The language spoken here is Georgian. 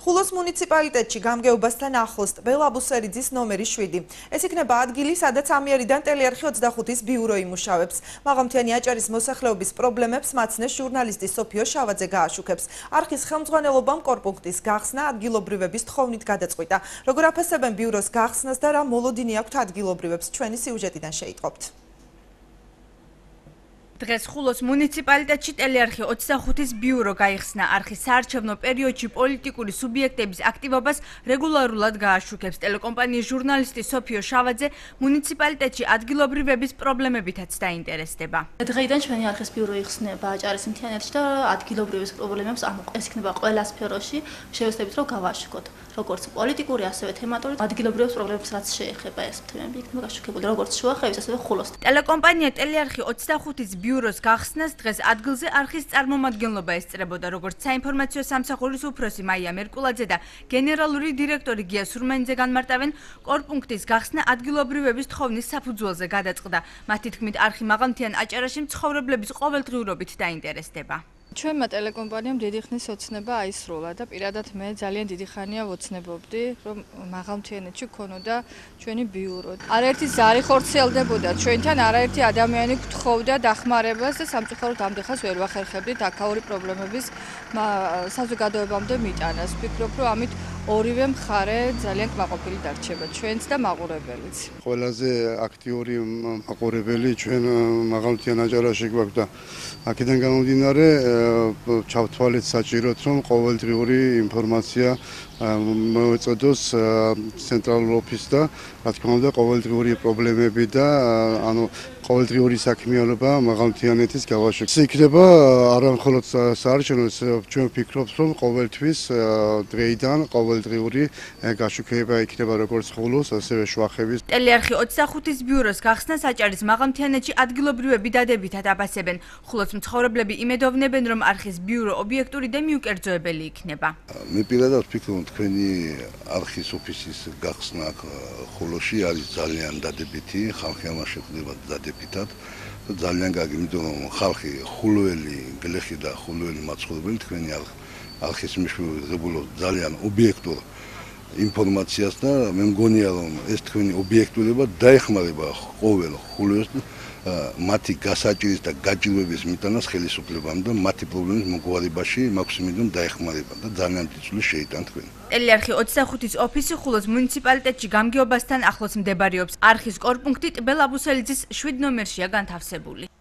ხულოს მუნიციპალიტეტში გამგეობასთან ახლოს ტბელ-აბუსერიძის ნომერი 7. ეს იქნება ადგილი, სადაც ამიერიდან ტელეარხი 25-ის ბიურო იმუშავებს. მაღალმთიანი აჭარის მოსახლეობის პრობლემებს მაცნეს ჟურნალისტი სოფიო შავაძე გააშუქებს. არხის ხელმძღვანელობამ კორპუნქტის გახსნა ადგილობრივების თხოვნით გადაწყვიტა. როგორ აფასებენ ბიუროს გახსნას და რა მოლოდინი აქვთ ადგილობრივებს, ჩვენი სიუჟეტიდან შეიტყობთ. დღეს ხულოს მუნიციპალიტეტში ტელეარხი 25-ის ბიურო გაიხსნა. არხის საარჩევნო პერიოდში პოლიტიკური სუბიექტების აქტივობას რეგულარულად გააშუქებს. ტელეკომპანიის ჟურნალისტი სოფიო შავაძე მუნიციპალიტეტში ადგილობრივების პრობლემებითაც დაინტერესდება. დღეიდან ჩვენი არხის ბიურო იხსნება აჭარის მთიანეთში და ადგილობრივების პრობლემებს ეს იქნება ყველა სფეროში შევეცდებით რომ გავაშუქოთ. როგორც პოლიტიკური, ასევე თემატური ადგილობრივების პრობლემებს რაც შეეხება ეს თემები იქნება გაშუქებული როგორც შუახევის, ასევე ხულოს. ტელეკომპანია ტელეარხი 25-ის ბიუროს გახსნას დღეს ადგილზე არხის წარმომადგენლობა ესწრებოდა, როგორც საინფორმაციო სამსახურის უფროსი მაია მერკულაძე და გენერალური დირექტორი გია სურმენიძე განმარტავენ, კორპუნქტის გახსნა ადგილობრივების თხოვნის საფუძველზე გადაწყდა. მათი თქმით, არხი მაღალმთიან აჭარაში მცხოვრებლების ყოველდღიურობით დაინტერესდება. ჩვენმა ტელეკომპანიამ დიდი ხნის ოცნება აისროლა და პირადად მე ძალიან დიდი ხანია ვოცნებობდი, რომ მაღალმთიანეთში ქონოდა ჩვენი ბიურო. არაერთი ზარი ხორციელდებოდა ჩვენთან, არაერთი ადამიანი გთხოვდა დახმარებას და სამწუხაროდ ამდენხას ვერ ვახერხებდით აქაური პრობლემების საზოგადოებამდე მიტანას. ვფიქრობ, რომ ამით ორივე მხარე ძალიან კმაყოფილი დარჩება, ჩვენც და მაყურებელიც. ყველაზე აქტიური მაყურებელი ჩვენ მაღალმთიან აჭარაში გვაქვს და აქედან გამომდინარე ჩავთვალეთ საჭიროდ, რომ ყოველდღიური ინფორმაცია მოეწოდოს ცენტრალურ ოფისს და რა თქმა უნდა ყოველდღიური პრობლემები და ყოველდღიური საქმიანობა მაღალმთიანეთის გავაშუქება. ეს იქნება არა მხოლოდ საარჩევნო, ჩვენ ვფიქრობთ, რომ ყოველთვის დღეიდან ყოველდღიური გაშუქება იქნება როგორც ხულოს, ასევე შუახევის. ტელეარხი 25-ის ბიუროს გახსნას აჭარის მაღალმთიანეთში ადგილობრივები დადებითად აფასებენ. ხულოს მცხოვრებლები იმედოვნებენ, რომ არხის ბიურო ობიექტური და მიუკერძოებელი იქნება. მე პირადად ვფიქრობ, თქვენი არხის ოფისის გახსნა ხულოში არის ძალიან დადებითი, ხალხი ამას შეხვდება დადებითად და ძალიან კარგი, იმიტომ რომ ხალხი ხულოელი, გლეხი და ხულოელი მაცხოვრებელი თქვენი არხის მეშვეობლად ძალიან ობიექტურ ინფორმაციას და მე მგონია რომ ეს თქვენი ობიექტურობა დაეხმარება ყოველ ხულოს მათი გასაჭირის და გაჭირვების მიტანას ხელისუფლებამ და მათი პრობლემის მოგვარებაში მაქსიმუმ დაეხმარება და ძალიან დიდ შეიტან თქვენ. ტელეარხი 25-ის ოფისი ხულოს მუნიციპალიტეტში გამგეობასთან ახლოს მდებარეობს. არხის კორპუნქტი ტბელ-აბუსერიძის 7 ნომერშია განთავსებული.